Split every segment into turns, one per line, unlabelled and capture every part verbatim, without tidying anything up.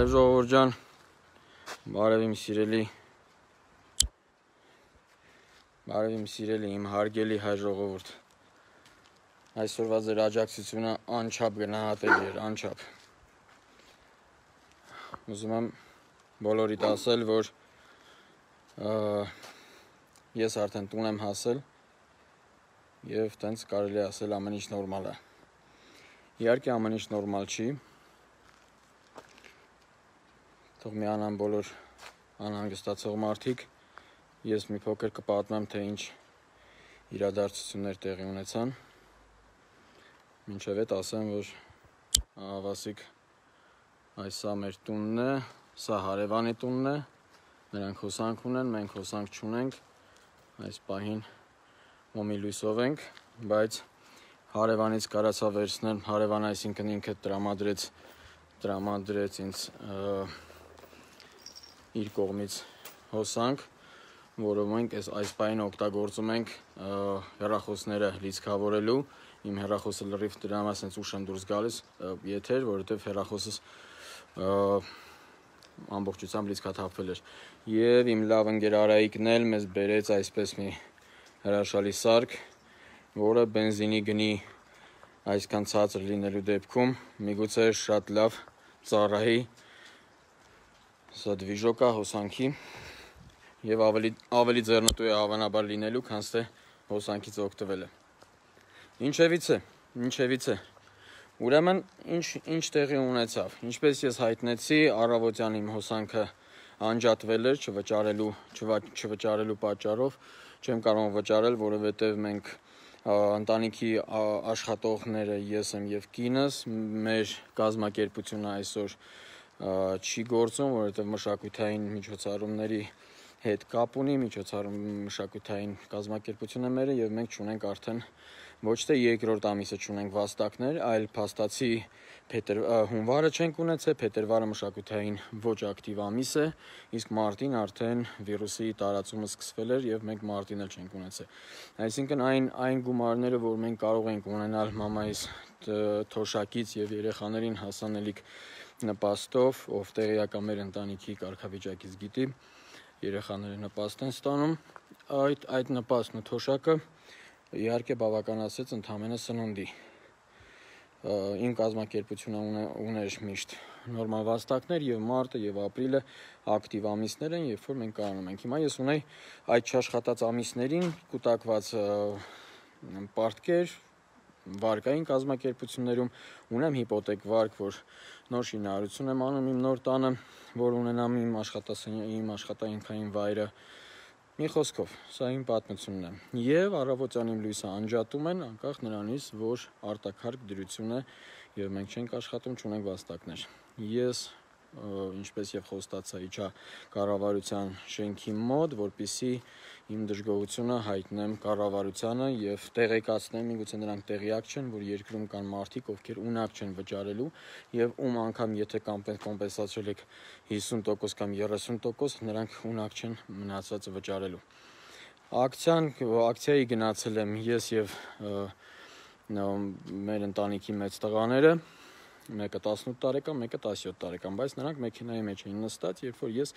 Բարև ժողովուրդ ջան, բարև իմ սիրելի, բարև իմ սիրելի, իմ հարգելի հայ ժողովուրդ։ Այսօրվա ձեր աջակցությունը անչափ գնահատելի էր, անչափ։ Ուզում եմ բոլորիդ ասել, որ ես արդեն տուն եմ հասել եւ տենց կարելի է ասել ամեն ինչ նորմալ է։ Իհարկե ամեն ինչ նորմալ չի։ Թող միանան բոլոր անհանգստացող մարդիկ, ես մի փոքր կպատմեմ, թե ինչ իրադարձություններ տեղի ունեցան։ Մինչև այդ ասեմ, որ Վասիկ, այս սա մեր տունն է, սա հարևանի տունն է, նրանք հոսանք ունեն, մենք հոսանք չունենք, այս պահին ոմի լույսով ենք, բայց հարևանից կարացա վերցնել, հարևան այսինքն ինքը տրամադրեց, տրամադրեց ինձ իր կողմից հոսանք, որով մենք այս պահին օգտագործում ենք հեռախոսները լիցքավորելու, իմ հեռախոսը լրիվ դրա համար ասենց ուշ եմ դուրս գալիս եթեր, որովհետև հեռախոսս ամբողջությամբ լիցքաթափվել էր։ Եվ իմ լավ ընկեր Արայիկն էլ մեզ բերեց այսպես մի հրաշալի սարք, որը բենզինի գնի այսքան ցածր լինելու դեպքում միգուցե շատ լավ ծառայի սա դվիժոկա հոսանքի եւ ավելի ավելի ձեռնտու է հավանաբար լինելու, քան թե հոսանքից օգտվելը։ Ինչևից է, ինչևից է։ Ուրեմն ինչ ինչ տեղի ունեցավ։ Ինչպես ես հայտնեցի, առավոտյան իմ հոսանքը անջատվել էր չվճարելու չվճարելու պատճառով, չեմ կարող վճարել, որովհետեւ մենք ընտանիքի աշխատողները ես եմ եւ կինս, մեր կազմակերպությունը այսօր չի գործում, որովհետև մշակութային միջոցառումների հետ կապ ունի, միջոցառում մշակութային կազմակերպությունը մերը եւ մենք չունենք արդեն ոչ թե երկրորդ ամիսը չունենք վաստակներ, այլ փաստացի փետրվար հունվարը չենք ունեցել, փետրվարը մշակութային ոչ ակտիվ ամիս է, իսկ մարտին արդեն վիրուսի տարածումը սկսվել էր եւ մենք մարտին էլ չենք ունեցել։ Այսինքն այն այն գումարները, որ մենք կարող ենք ունենալ մամայիս թոշակից եւ երեխաներին հասանելիք նպաստով, ով տեղյակ է մեր ընտանիքի կարգավիճակից գիտի, երեխաները նպաստ են ստանում, այդ այդ նպաստն ու թոշակը իհարկե բավականացեց ընդամենը սնունդի։ Իմ կազմակերպությունը ուներ միշտ նորմալ վաստակներ եւ մարտը եւ ապրիլը ակտիվ ամիսներ են, երբ որ մենք կարողանում ենք։ Հիմա ես ունեի այդ չաշխատած ամիսներին կուտակված պարտքեր վարկային կազմակերպություններում, ունեմ հիպոթեկ վարկ, որ նոր շինարարություն եմ անում իմ նոր տանը, որ ունենամ իմ աշխատասենյակի, իմ աշխատանքային վայրը։ Մի խոսքով, սա իմ պատմությունն է։ Եվ առավոտյան իմ լույսը անջատում են, անկախ նրանից, որ արտակարգ դրություն է եւ մենք չենք աշխատում, չունենք վաստակներ։ Ես ինչպես եւ խոստացա իջա կառավարության շենքի մոտ, որպեսզի իմ դժգոհությունը հայտնեմ կառավարությանը եւ տեղեկացնեմ, միգուցե նրանք տեղյակ չեն, որ երկրում կան մարդիկ, ովքեր ունակ չեն վճարելու եւ ում անգամ եթե կոմպենսացրել եք հիսուն տոկոս կամ երեսուն տոկոս, նրանք ունակ չեն մնացածը վճարելու։ Ակցիան ակցիայի գնացել եմ ես եւ մեր ընտանիքի մեծ տղաները, մեկը տասնութ տարեկան, մեկը տասնյոթ տարեկան, բայց նրանք մեքենայի մեջ էին նստած, երբ որ ես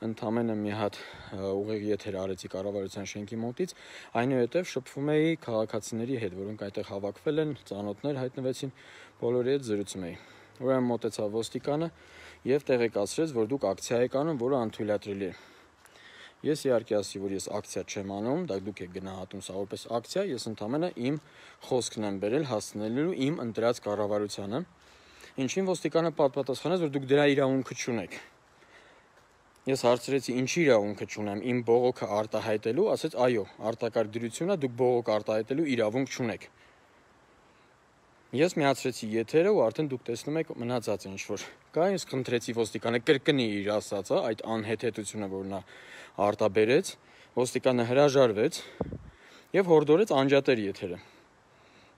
ընդամենը մի հատ ուղիղ եթեր արեցի կառավարության շենքի մոտից, այնուհետև շփվում էի քաղաքացիների հետ, որոնք այդտեղ հավաքվել են, ծանոթներ հայտնվեցին, բոլորի հետ զրուցում էի։ Ուրեմն մոտեցավ ոստիկանը եւ տեղեկացրեց, որ դուք ակցիա եք անում, որը անթույլատրելի է։ Ես իհարկե ասի, որ ես ակցիա չեմ անում, դա դուք եք գնահատում սա որպես ակցիա, ես ընդամենը իմ խոսքն եմ բերել հասնելու իմ ընտրած կառավարությանը։ Ինչին ոստիկանը պատասխանեց, որ դուք դրա իրավունքը չունեք։ Ես հարցրեցի, ինչի իրավունքը չունեմ, իմ բողոքը արտահայտելու, ասեց, այո, արտակարգ դրությունն է, դուք բողոք արտահայտելու իրավունք չունեք։ Ես միացրեցի եթերը ու արդեն դուք տեսնում եք մնացածը ինչ որ կա, ես խնդրեցի ոստիկանը կրկնի իր ասածը, այդ անհեթեթությունը, որ նա արտաբերեց, ոստիկանը հրաժարվեց եւ հորդորեց անջատել եթերը։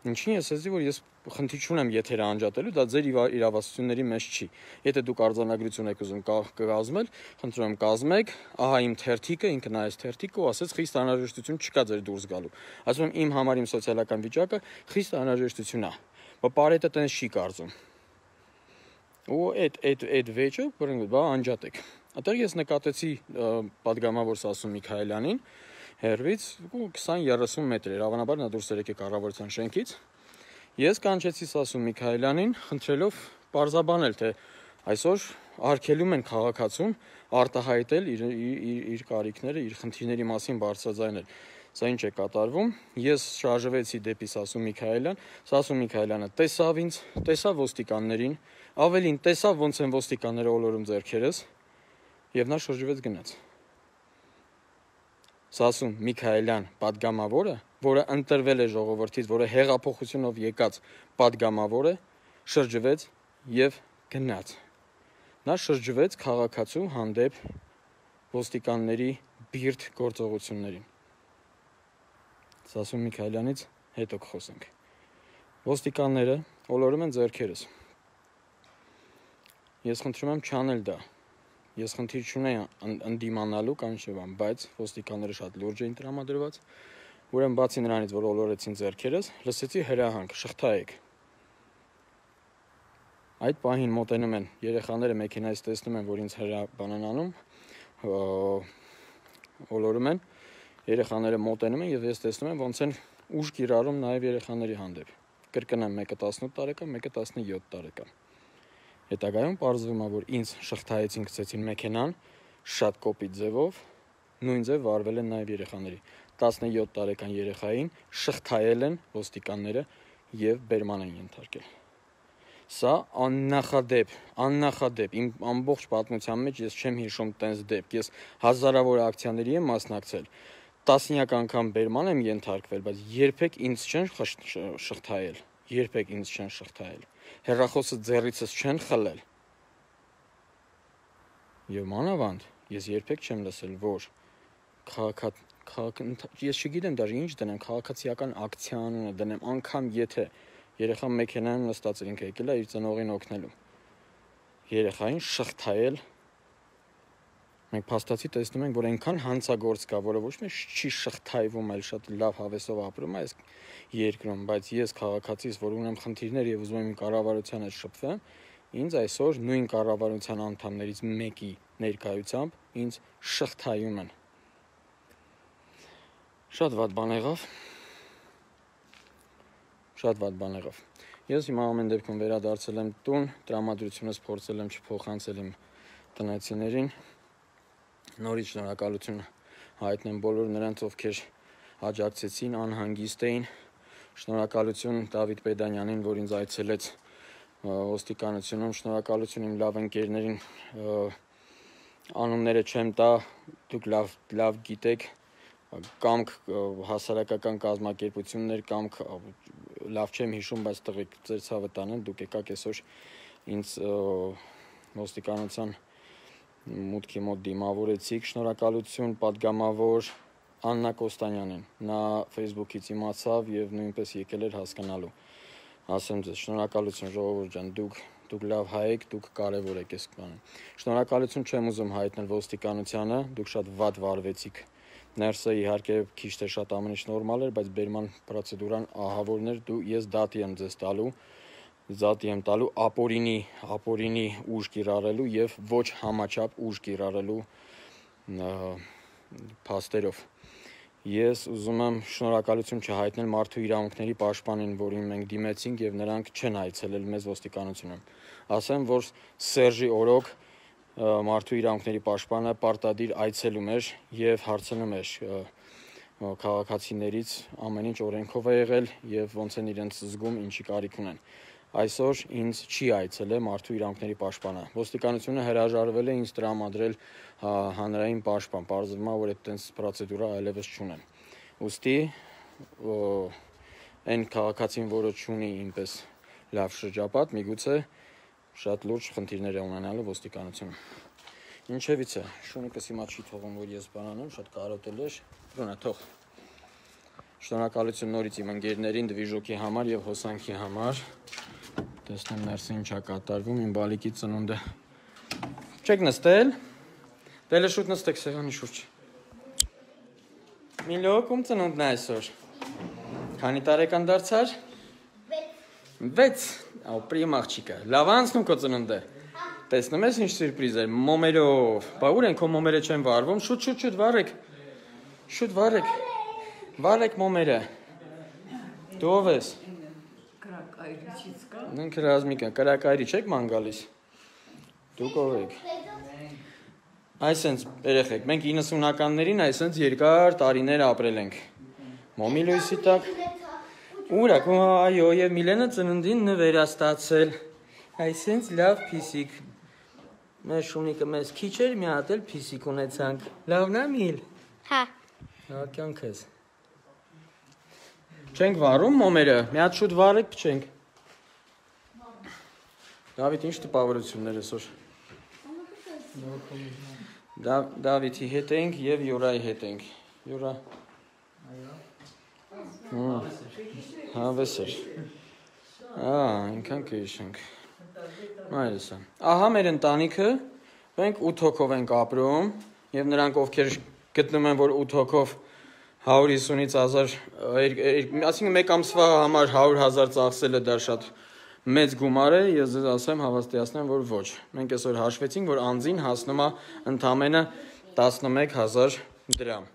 Ինչին ես ասեցի, որ ես խնդիր չունեմ եթերը անջատելու, դա ձեր իրավասությունների մեջ չի։ Եթե դուք արձանագրություն եք ուզում կազմել, խնդրում եմ կազմեք, ահա իմ թերթիկը, ինքը նայեց թերթիկը ու ասեց խիստ անհրաժեշտություն չկա ձեր դուրս գալու։ Ասում եմ իմ համար իմ սոցիալական վիճակը խիստ անհրաժեշտություն է։ Բայց բարետը տենց չի կարծում։ ու այդ այդ այդ վեճը բռնգ բա անջատեք։ Այդտեղ ես նկատեցի падգամավոր Սասուն Միքայելյանին հերվից twenty thirty մետր էր, հավանաբար նա դուրս եկե կառավարության շենքից։ Ես կանչեցի Սասուն Միքայելյանին, խնդրելով պարզաբանել, թե այսօր արգելում են քաղաքացուն արտահայտել իր իր իր կարիքները, իր խնդիրների մասին բարձրաձայնել։ Սա ինչ է կատարվում։ Ես շարժվեցի դեպի Սասուն Միքայելյան, Սասուն Միքայելյանը տեսավ ինձ, տեսավ ոստիկաններին, ավելին տեսավ ոնց են ոստիկանները ոլորում ձեռքերս, եւ նա շրջվեց գնաց։ Սասուն Միքայելյան падգամավորը, որը ընտրվել է ժողովրդից, որը հեղափոխությունով եկած падգամավորը, շրջվեց եւ գնաց։ Նա շրջվեց քաղաքացու հանդեպ ոստիկանների բիրտ գործողություններին։ Սասուն Միքայելյանից հետո կխոսենք։ Ոստիկանները ոլորում են ձեռքերս։ Ես խնդրում եմ չանել դա։ Ես խնդիր չունեի ընդդիմանալու կամ չէ բան, բայց ոստիկանները շատ լուրջ էին տրամադրված։ Ուրեմն բացի նրանից, որ ոլորեցին ձեռքերս, լսեցի հրահանգ, շղթայեք։ Այդ պահին մոտենում են երեխաները մեքենայից տեսնում են, որ ինձ հրաբան են անում, ոլորում են, երեխաները մոտենում են եւ ես տեսնում եմ ոնց են ուժ կիրառում նաեւ երեխաների հանդեպ։ Կրկնեմ, մեկը տասնութ տարեկան, մեկը տասնյոթ տարեկան։ Հետագայում պարզվում է, որ ինձ շղթայեցին, գցեցին մեքենան, շատ կոպիտ ձևով, նույն ձև վարվել են նաեւ երեխաների։ տասնյոթ տարեկան երեխային շղթայել են ոստիկանները եւ բերման են ենթարկել։ Սա աննախադեպ, աննախադեպ, իմ ամբողջ պատմության մեջ ես չեմ հիշում տենց դեպք, ես հազարավոր ակցիաների եմ մասնակցել, տասնյակ անգամ բերման եմ ենթարկվել, բայց երբեք ինձ չեն շղթայել, երբեք ինձ չեն շղթայել, հեռախոսը ձեռիցս չեն խլել։ Եվ մանավանդ, ես երբեք չեմ լսել, որ քաղաք, ես չգիտեմ դաժե ինչ դնեմ, քաղաքացիական ակցիա անունը դնեմ, անգամ եթե երեխան մեքենայում նստած էր, ինքը եկել է իր ծնողին օգնելու։ Երեխային շղթայել։ Մենք փաստացի տեսնում ենք, որ այնքան հանցագործ կա, որը ոչ միայն չի շղթայվում, այլ շատ լավ հավեսով ապրում է այս երկրում, բայց ես քաղաքացիս, որ ունեմ խնդիրներ եւ ուզում եմ իմ կառավարության հետ շփվեմ, ինձ այսօր նույն կառավարության անդամներից մեկի ներկայությամբ ինձ շղթայում են։ Շատ վատ բան եղավ։ Շատ վատ բան եղավ։ Ես հիմա ամեն դեպքում վերադարձել եմ տուն, տրամադրությունս փորձել եմ չփոխանցել իմ տնեցիներին։ Նորից շնորհակալություն հայտնեմ բոլոր նրանց, ովքեր աջակցեցին, անհանգիստ էին։ Շնորհակալություն Դավիթ Պեդանյանին, որ ինձ այցելեց ոստիկանությունում, շնորհակալություն իմ լավ ընկերներին, անունները չեմ տա, դուք լավ լավ գիտեք, կամք հասարակական կազմակերպություններ, կամք լավ չեմ հիշում, բայց տղեկ ձեր ցավը տանեն, դուք եկաք այսօր ինձ ոստիկանության մուտքի մոտ դիմավորեցիք, շնորհակալություն падգամավոր Աննա Կոստանյանին, նա Facebook-ից իմացավ եւ նույնպես եկել էր հասկանալու։ Ասեմ ձեզ, շնորհակալություն ժողովուրդ ջան, դուք դուք լավ հայ եք, դուք կարևոր եք այս բանը։ Շնորհակալություն չեմ ուզում հայտնել ոստիկանությանը, դուք շատ վատ վարվեցիք։ Ներսը իհարկե քիչ թե շատ ամեն ինչ նորմալ էր, բայց բերման պրոցեդուրան ահավորն էր, դու ես դատի եմ ձեզ տալու, դատի եմ տալու ապօրինի, ապօրինի ուժ կիրառելու եւ ոչ համաչափ ուժ կիրառելու փաստերով։ Ես ուզում եմ շնորհակալություն չհայտնել մարդու իրավունքների պաշտպանին, որին մենք դիմեցինք եւ նրանք չեն այցելել մեզ ոստիկանությունում։ Ասեմ, որ Սերժի օրոք մարդու իրավունքների պաշտպանը պարտադիր այցելում էր եւ հարցնում էր քաղաքացիներից ամեն ինչ օրենքով է եղել եւ ոնց են իրենց զգում, ինչի կարիք ունեն։ Այսօր ինձ չի այցելել մարդու իրավունքների պաշտպանը։ Ոստիկանությունը հրաժարվել է ինձ տրամադրել հանրային պաշտպան, պարզվում է, որ այդտենց պրոցեդուրա այլևս չունեն։ Ուստի այն քաղաքացին, որը չունի ինպես լավ շրջապատ, միգուցե շատ լուրջ խնդիրներ է ունենալու ոստիկանությունում։ Ինչևից է, շունիկս հիմա չի թողում, որ ես բանանում, շատ կարոտել էր, բրոնա թող։ Շնորհակալություն նորից իմ ընկերներին, դվիժոկի համար եւ հոսանքի համար։ Տեսնեմ ներսը ինչ է կատարվում, իմ բալիկի ծնունդը։ Չեք նստել։ Դելը շուտ նստեք սեղանի շուրջ։ Միլոք, ում ծնունդն է այսօր։ Քանի տարեկան դարձար։ վեց, ապրիմ աղջիկը, լավ անցնում քո ծնունդը, տեսնում ես ինչ սյուրպրիզ էր, մոմերով, բա ուր են քո մոմերը չեն վարվում, շուտ շուտ շուտ վարեք, շուտ վարեք, վարեք մոմերը, դու ով ես, ինքը Ռազմիկը, կրակայրի չեք ման գալիս, դուք ով եք, այսենց երեխեք, մենք իննսունականներին այսենց երկար տարիներ ապրել ենք, մոմի լույսի տակ, ուր ակ, այո, և Միլենը ծննդին նվերաստացել, այսենց լավ պիսիկ, մեր շունիկը մեզ քիչ էր մի հատ էլ պիսիկ ունեցանք, լավն է Միլ,
հա,
հա կյանքս, չենք վարում մոմերը, մի հատ շուտ վարեք փչենք, Դավիթ ինչ տպավորություններ այսօր, Դավիթի հետ ենք և Յուրայի հետ ենք, Յուրա, հավես էր, ինքան կհիշենք, մայրսը, ահա մեր ընտանիքը, մենք ութ հոգով ենք ապրում և նրանք ովքեր գտնում են, որ ութ հոգով հարյուր հիսունից հազար, այսինքն մեկ ամսվա համար հարյուր հազար ծախսելը դա շատ մեծ գումար է, ես ձեզ ասեմ հավաստիացնեմ, որ ոչ, մենք այսօր հաշվեցինք, որ անձին հասնում է ընդամենը տասնմեկ հազար դրամ,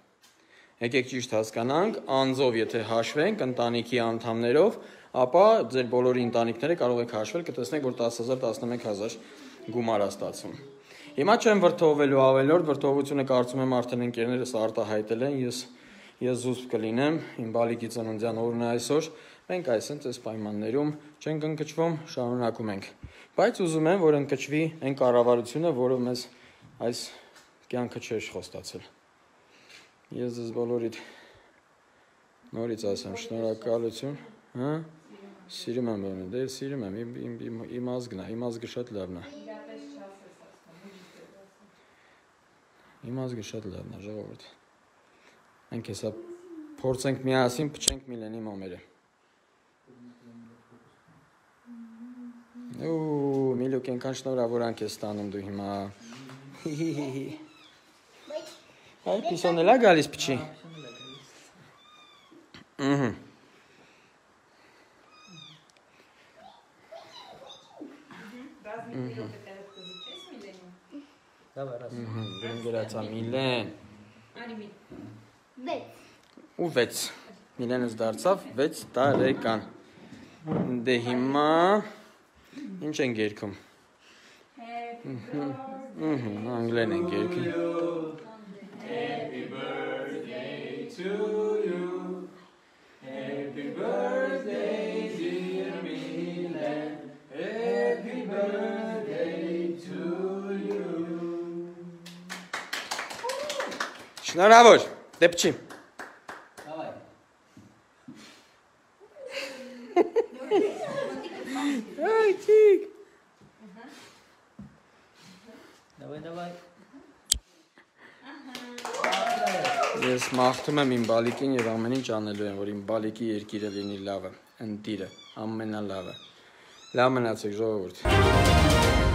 եկեք ճիշտ հասկանանք, անձով եթե հաշվենք ընտանիքի անդամներով, ապա ձեր բոլորի ընտանիքները կարող եք հաշվել, կտեսնեք, որ տասը հազար տասնմեկ հազար գումար է ստացվում։ Հիմա չեմ վրդովվելու ավելորդ, վրդովությունը կարծում եմ արդեն ընկերներս արտահայտել են, ես ես զուսպ կլինեմ, իմ բալիկի ծննդյան օրն է այսօր, մենք այսենց այս պայմաններում չենք ընկճվում, շարունակում ենք, բայց ուզում եմ, որ ընկճվի այն կառավարությունը, որը մեզ այս կյանքը չէր խոստացել։ Ես ձեզ բոլորիդ նորից ասեմ, շնորհակալություն, հա, սիրում եմ բանը, դե սիրում եմ, իմ ազգն է, իմ ազգը շատ լավն է։ Իմ ազգը շատ լավն է, ժողովուրդ։ Մենք հեսա փորձենք միասին փչենք Միլենի մոմերը։ Ու Միլուկ ենքան շնորհավորանք ես ստանում դու հիմա։ Այ պիսոն էլ է գալիս փչի։ Ըհը։ Դեն գրացա Միլեն։ Ու վեց, Միլենս դարձավ վեց տարեկան, դե հիմա ինչ ենք երգում, անգլեն ենք երգում, Happy birthday to you, Happy birthday dear Milen, Happy birthday to you. Շնորհավոր, դե փչի. Ay, chic. Давай, давай. Ես մաղթում եմ իմ բալիկին և ամեն ինչ անելու եմ, որ իմ բալիկի երկիրը լինի լավը, ընտիրը, ամենալավը։ Լավ մնացեք ժողովուրդ։